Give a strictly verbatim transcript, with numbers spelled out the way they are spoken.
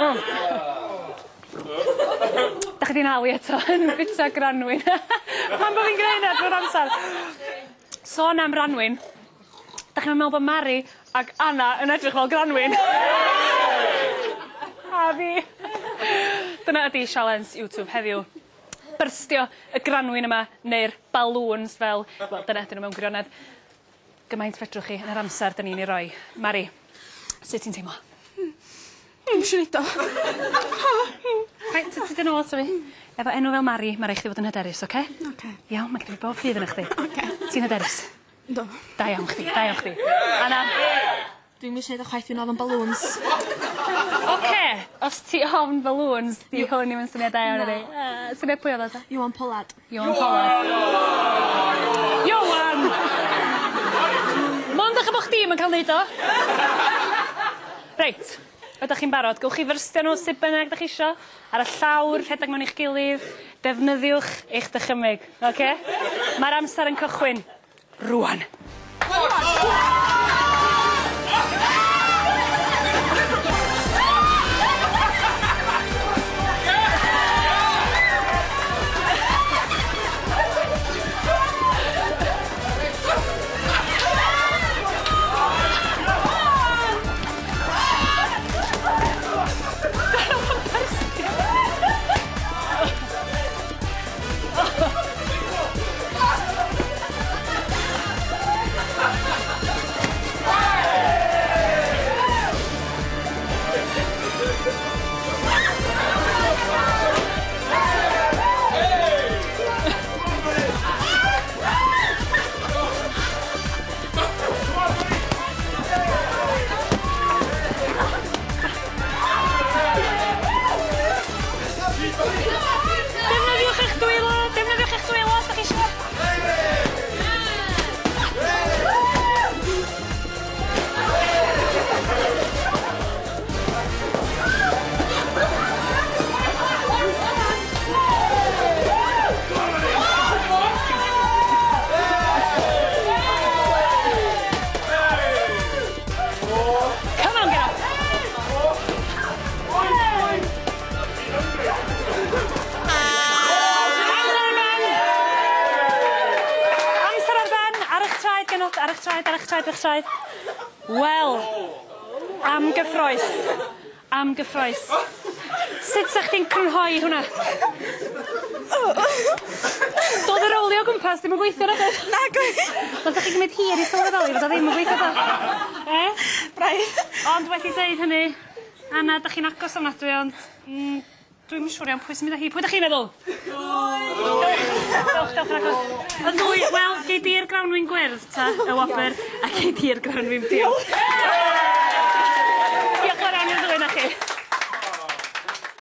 Mm. Da chi 'di nhalu eto yn bita granwyn. Pam bo' fi'n gneud 'na drwy'r amsar? Sôn am Ranwyn, da chi'n meddwl bod Mari ac Anna yn edrych fel Granwyn? A fi. Dyna ydi sialens YouTube heddiw. Byrstio y granwyn yma, neu'r balŵns fel, wel, dyna ydyn nhw mewn gwirionedd. Gymaint fedrwch chi yn yr amser 'dan ni'n ei roi. Mari, sut ti'n teimlo? Dwi'm isio neud o. Reit, ti dod nôl ato fi. Efo enw fel Mari, ma' rai' chdi fod yn hyderus, oce? Oce. Iawn, ma' gen i bob ffydd yn chdi. Oce. Ti'n hyderus? Yndw. Da iawn chdi, da iawn chdi. Anna? Dwi'm isio neud o chwaith, dwi'n ofn balŵns. Oce, os ti ofn balŵns, di hwn ddim yn syniad da iawn i. Uh, syniad pwy oedd o ta? Iwan Pollard. Iwan Pollard. Iwan! Mond achos bo' chdi'm yn ca'l neud o. Reit, ydych chi'n barod? Gewch chi fyrstio nhw sut bynnag 'dach chi isio, ar y llawr, rhedeg mewn i'ch gilydd, defnyddiwch eich dychymyg, oce? Mae'r amser yn cychwyn rŵan. Defnyddiwch eich dwylo, defnyddiwch eich dwylo os 'dach chi isio. Come on, get up. Amser ar ben! Amser ar ben! Ar eich traed, genod, ar eich traed, ar eich traed, ar eich traed. Wel, am gyffrous. Am gyffrous. Sut sa chdi'n crynhoi hwnna? Doedd y rowlio o gwmpas ddim yn gweithio nag oedd? Nag oedd. Nath chi gymryd hir i sylweddoli fod o ddim yn gweithio do? E? Braidd. Ond wedi deud hynny, Anna, 'dach chi'n agos ofnadwy, ond mm, dwi'm yn siŵr iawn pwy sy'n mynd â hi. Pwy 'dach chi'n meddwl? Dewch, dewch, dewch yn agos. Y ddwy, wel, gei di'r grawnwin gwyrdd ta, y wobr, a gei di'r grawnwin piws. Diolch yn fawr iawn i'r ddwy 'na chi.